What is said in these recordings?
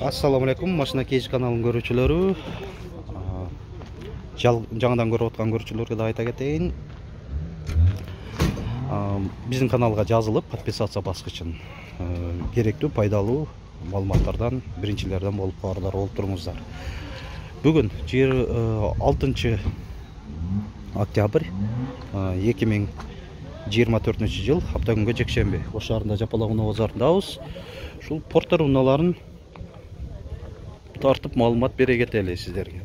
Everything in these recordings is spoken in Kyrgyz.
Assalamu alaikum, Машина Кейж каналынын көрүүчүлөрү. Жаңадан көрүп аткан көрүүчүлөргө да айта кетейин. Биздин каналга жазылып, подписация баскычын керектүү, пайдалуу маалыматтардан биринчилерден болуп каларлар болуп туруңуздар. Бүгүн 6 октябрь 2024 жыл, апта күнгө жекшемби. Ош шаарында Жапалак базарындабыз. Ушул Портер унааларын тартып маалымат бере кетели сиздерге.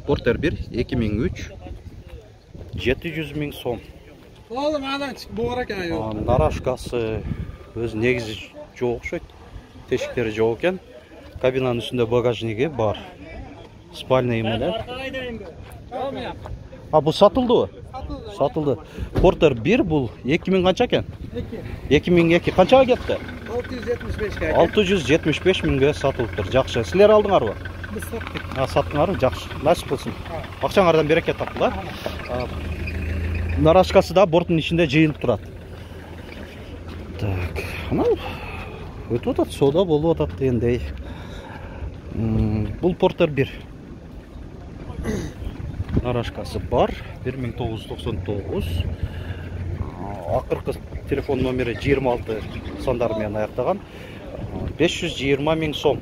Портер 1 2003 700 000 сом. Oğlum anan boğar ekan yok. Нарашкасы өз негизи жок окшойт. Тешиктери жок экен. Кабинанын үстүндө багажниги бар. Спальный менен. Бул сатылдыбы? Сатылды. Портер 1 бул 2000 канча экен? 2002. Канчага кетти? 675 675 миңге сатылыптыр. Жакшы. Силер алдыңарбы? Biz sattık. Саттыңарбы? Жакшы. Насип болсун. Акчаңардан берекет таптылар. Нарашкасы да борттун ичинде жыйылып турат. Так, анау өтүп атат, соода болуп атат дегендей. Бул Портер 1. Нарашкасы бар, 1999. Акыркы телефон номери 26 сандар менен аяктаган. 520 000 сом.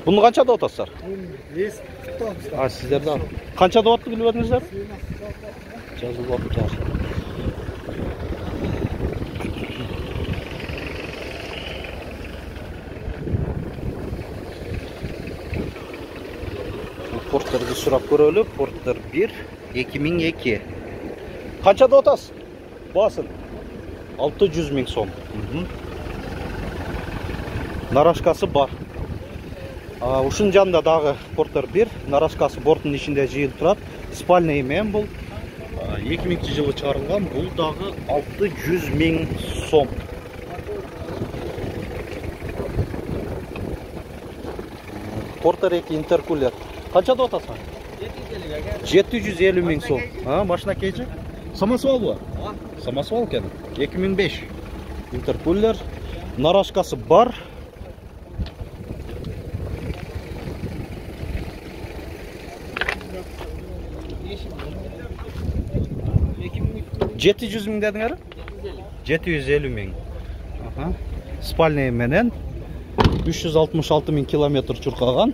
Буну канча деп атасыздар? Сиздер да канча деп атты билип атыңыздар? Жазылып атты. Портерди сурап көрөлү. Портер 1 2002. Канча деп атасыз? Басын. 600 000 сом. Нарашкасы бар. Ушунун жанында дагы Портер 1, нарашкасы борттун ичинде жыйылып турат. Спальный менен бул 2000-жылы чыгарылган. Бул дагы 600 000 сом. Портер 2 интеркулер. Канча деп атасың? 750 000 сом. Машина Кейджи? Самосвалбы? Самосвал экен. 2005. Интеркулер. Нарашкасы бар. Жети жүз миң дедиңер? 750 000. Спальный менен 366 000 километр чуркаган.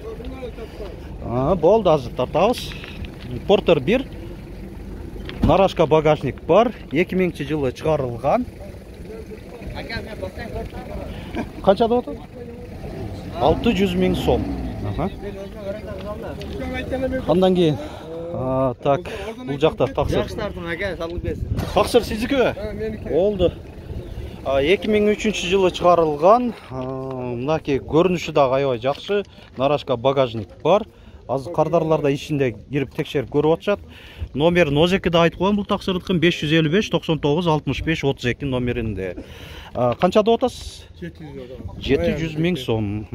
Болду, азыр тартабыз. Портер 1. Нарашка багажник бар. 2000-жылы чыгарылган. Канча деп атат? 600 000 сом. Андан кийин так, бул жакта таксыр. Жакшылардын ака салып берсин. Таксыр сиздикиби? Меники. Болду. 2003 чыгарылган. Мынаки көрүнүшү дагы аябай жакшы. Нарашка багажник бар. Азыр кардарларда ичинде кирип текшерип көрүп атышат. Номерин озекиде айтып койгон бул таксырдыкын 555 99 65 32 номеринде. Канча деп атасыз? 700 000 сом.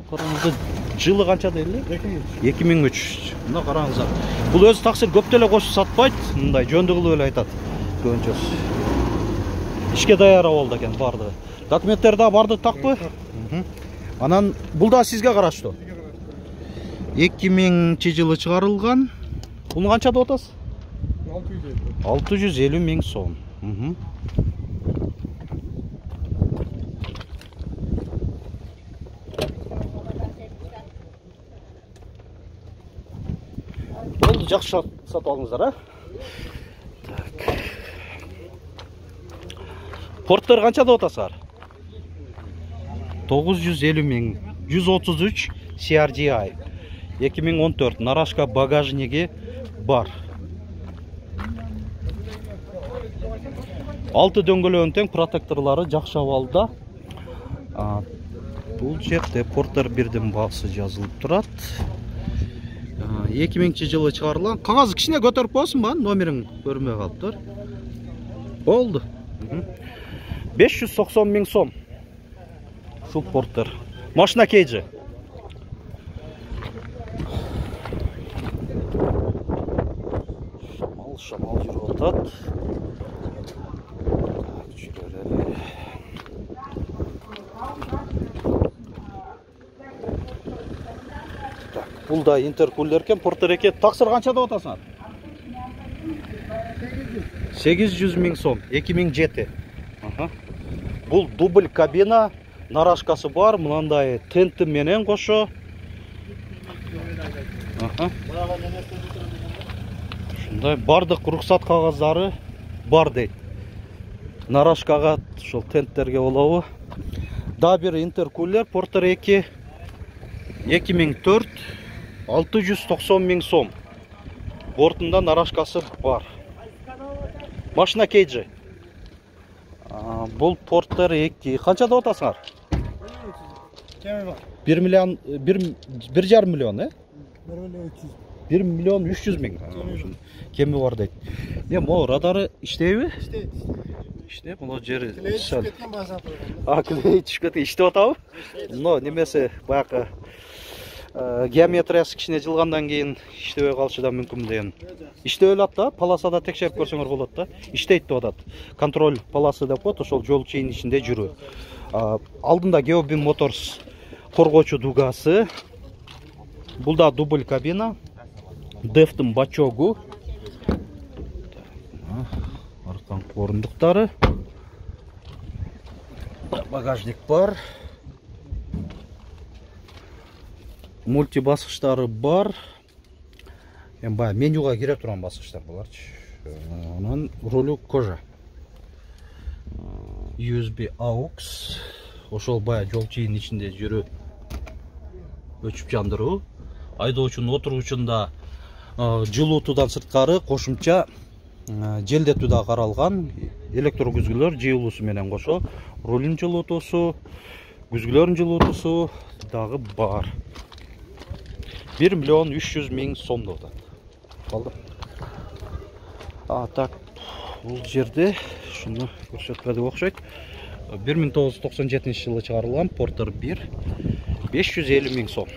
Караңыздар, жылы канча дейли? 2003. Мына караңыздар. Бул өзү таксир көп деле кошуп сатпайт, мындай жөндү кылып эле айтат. Көбүнчөсү. Ишке даяр болду экен бардыгы. Документтер да барды такпы? Анан бул да сизге караштуу. 2000-жылы чыгарылган. Буну канча деп атасыз? 650 000 сом. Болду, жакшы сатып алыңыздар, Так. Портер канча деп атасыздар? 950 000. 133 CRDI. 2014. Нарашка багажниги бар. 6 дөңгөлөгүнүн тең, протекторлору жакшы абалда. Бул жерде Портер 1дин баасы жазылып турат. 2000-жылы чыгарылган. Кагазы кичине көтөрүп коесуңбу? Номерин көрмөй калыптыр. Болду. 590 000 сом. Ушул Портер. Машина Кейджи. Шамал жүрүп атат. Бул да интеркулер экен, Портер 2. Таксыр канча деп атасыңар? 800 миң сом, 2007. Бул дубль кабина, нарашкасы бар, мынандай тенти менен кошо. Ушундай бардык уруксат кагаздары бар дейт. Нарашкага, ошол тенттерге болобу. Да бир интеркулер Портер 2 2004 690 миң сом. Бортунда нарашкасы бар. Машина кейджи. Бул Портер 2. Канча деп атасыңар? 1 миллион 1,5 миллион, 1 миллион 300 миң. Кеми бар дейт. Могу радары иштейби? Иштейт. Мына жери сәл. Клей түшүп кеткен. Иштеп атабы? Но немесе баягы геометриясы кичине жылгандан кийин иштебей калышы да мүмкүн деген. Иштеп эле атта, полосада текшерип көрсөңөр болот да. Иштейт деп атат. Контроль полосы деп коет, ошол жол чейин ичинде жүрүү. Алдында Geobin Motors коргоочу дугасы. Бул да дубль кабина. Дефтин бачогу. Аркан орундуктары. Багажник бар. Мульти баскычтары бар. Баягы менюга кире турган баскычтар буларчы. Анан рулю кожа. USB AUX. Ошол баягы жол чейин ичинде жүрүү. Өчүп жандыруу. Айдоочунун отургучунда жылуутуудан сырткары кошумча желдетүү да каралган. Электро күзгүлөр жыйылуусу менен кошо. Рулдун жылуутуусу, күзгүлөрдүн жылуутуусу дагы бар. 1 миллион 300 миң сом деп атат. Калды. Так, бул жерде шуну көрсөтпөдүк окшойт. 1997 жылы чыгарылган Портер 1 550 миң сом.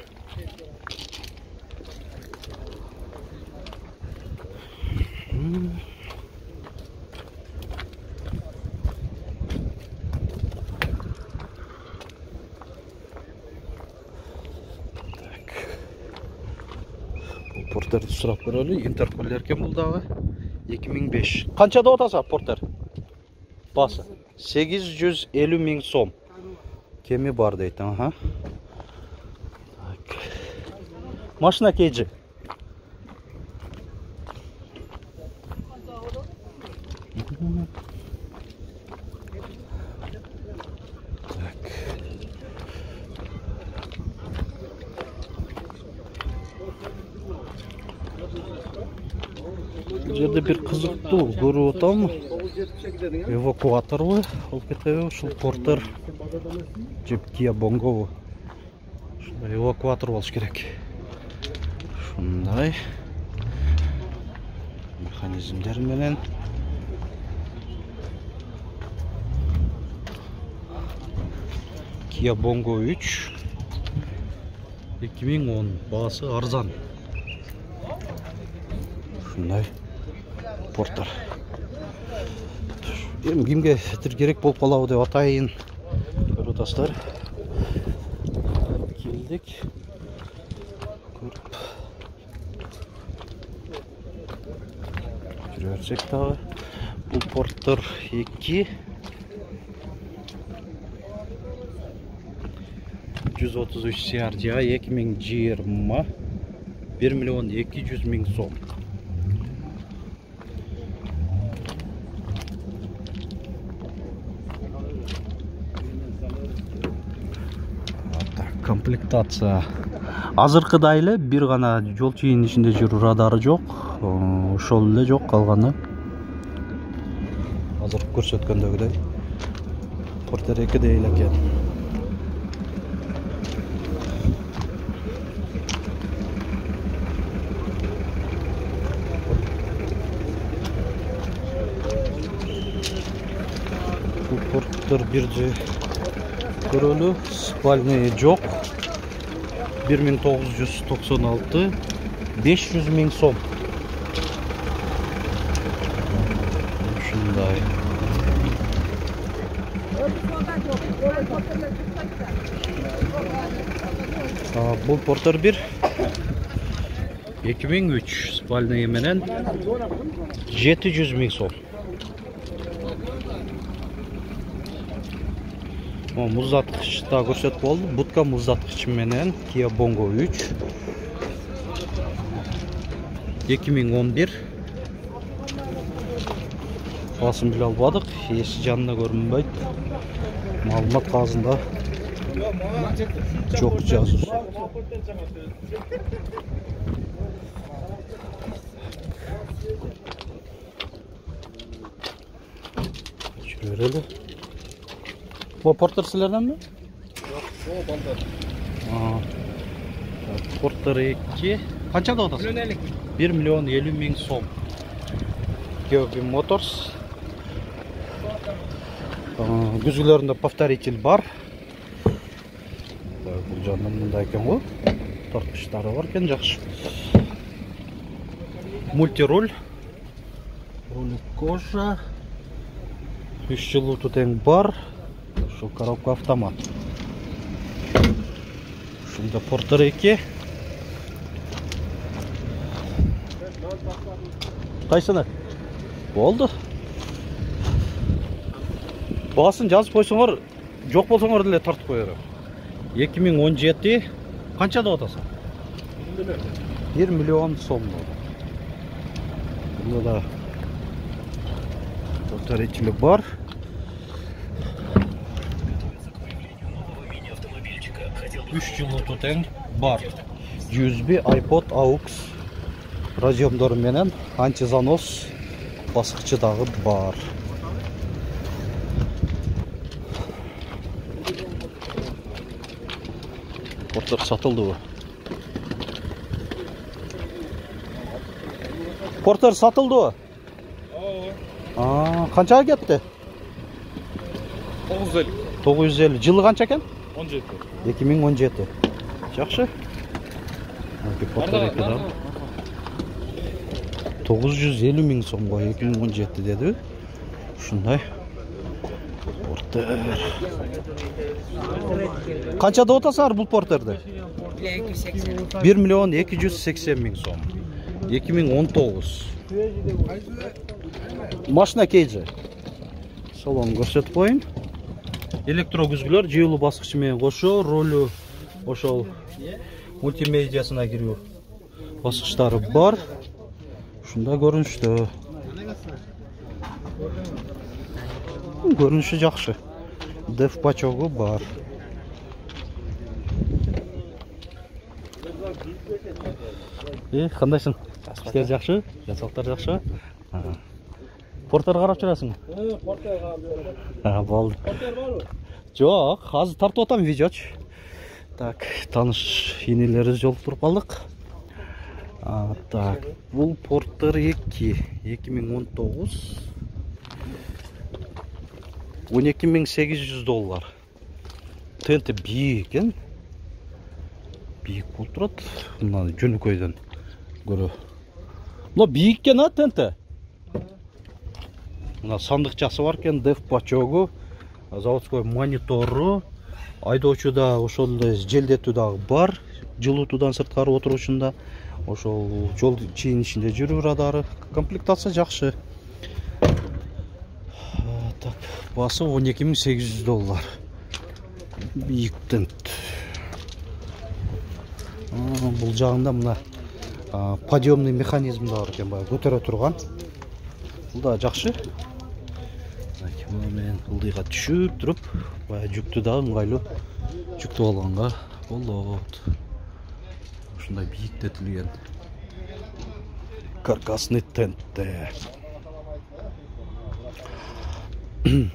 Портерди сурап көрөлү. Интеркулер экен бул дагы. 2005. Канча деп атасың Портер? Басы 850 миң сом. Кеми бар дейт. Так. Машина кейджи. Жерде бир кызыктуу көрүп атам. Эвакуаторбу алып кетеби? Ушул Портер жеп Kia Bongo. Ушундай эвакуатор болуш керек. Ушундай механизмдер менен Kia Bongo 3 2010 баасы арзан. Ушундай Портер. Кимге керек болуп калабы деп атайын. Көрүп атасыздар. Келдик. Көрүп. Жүрө берсек дагы. Бул Портер 2 133 CRDI 2020 1 миллион 200 миң сом. Комплектация азыркыда эле бир гана жол чейин ичинде жүрүү радары жок. Ошол эле жок, калганы азыр көрсөткөндөгүдөй Портер 2 эле экен. Бул Портер 1 көрөлү, спальный жок. 1996 500 миң сом. Ушундай. Бул Портер 1 2003 спальный менен 700 000 сом. Муздаткыч да көрсөтүп болду. Будка муздаткыч менен Kia Bongo 3 2011. Басым биле албадык, эси жанына көрүнбөйт. Маалымат кагазында жок жазуу. Жүрөлү. Bu Porter sizlerden mi? Yok, o balda. Porter 2. Kaça da odası? 1 milyon 50 bin som. Geobi Motors. Güzgülerinde повторитель бар. Бұл жанында мында екен ғой. Тартқыштары бар екен, жақсы. Мультируль. Руль кожа. 3 жылыту тең бар. Şu коробка автомат. Şunda Porter 2. Kaysana? Oldu. Baсын жазып койсоңор, жок болсоңор деле тартып коёр. 2017 канчада атасың? 1 миллион сом. Бunda da повторители бар. Үч жылыту тең бар. USB, iPod, AUX радиомдору менен антизанос баскычы дагы бар. Porter сатылдыбы? Porter сатылдыбы? Канчага кетти? 950. 950. Жылы канча экен? 17. 2017. Жакшы. Porter 2 950 000 сомго 2017 деди. Ушундай. Porter. Канчада отасыңар бул Porter'de? 1 миллион 280 000 сом. 2019. Машина кейжи. Салон көрсөтүп коюн. Электрогүзгүлөр жыйылуу баскычы менен кошо, ролу ошол мультимедиасына кирүү баскычтары бар. Ушундай көрүнүштө. Көрүнүшү жакшы. Деф пачогу бар. Кандайсың? Иштер жакшы? Жасалыктар жакшы? Porter карап жүрөсүң? Porter карап жүрөм. Болду. Porter барбы? Жок, азыр тартып атам видеочу. Так, таныш инелерибиз жолуктуруп калдык. Так, бул Porter 2 2019 $12.800. Тенте бийик экен. Бийик болуп турат. Мына жөнөкөйдөн көрө. Мына бийик экен а тенте. Мына сандыкчасы бар экен, деф пачогу, заводской монитору, айдоочуда ошол эле желдетүү дагы бар. Жылытуудан сырткары отурушунда ошол жол чейин ичинде жүрүү радары. Комплектация жакшы. Так, басы $12.800. Бийик тент. Бул жагында мына подъемный механизм да бар экен, баягы көтөрө турган. Бул да жакшы. Мен ылдыйга түшүп туруп, баягы жүктү да ыңгайлуу жүктүп алганга болот. Ушундай бийиктетилген каркасный тентте.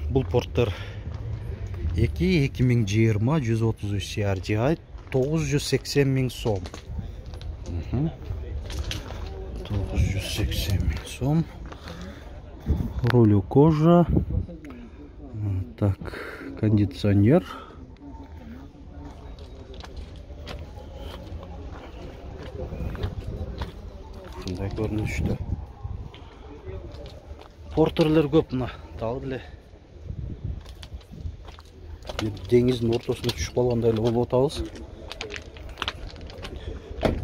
Бул Porter 2 2020 133 CRGI 980 000 сом. 980 000 сом. Руль кожа. Так, кондиционер. Ушундай көрүнүштө. Porter'ler көп мына, дагы эле деңиздин ортосуна түшүп калгандай эле болуп атабыз.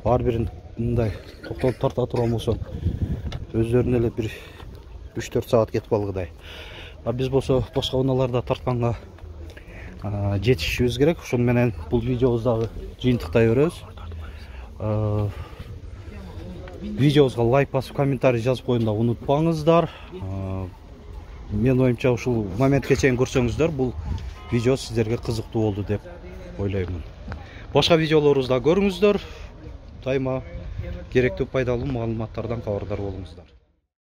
Ар бирин мындай токтолуп тарта турган болсо өздөрүнө эле бир 3-4 саат кетип калгыдай. А биз болсо башка унааларда тартканга жетишибиз керек. Ошону менен бул видеобузду дагы жыйынтыктай беребиз. Видеобузга лайк басып, комментарий жазып коюуну унутпаңыздар. Мен оюмча ушул моментке чейин көрсөңүздөр, бул видео сиздерге кызыктуу болду деп ойлоймун. Башка видеолорубузду көрүңүздөр. Дайыма керектүү пайдалуу маалыматтардан кабардар болуңуздар.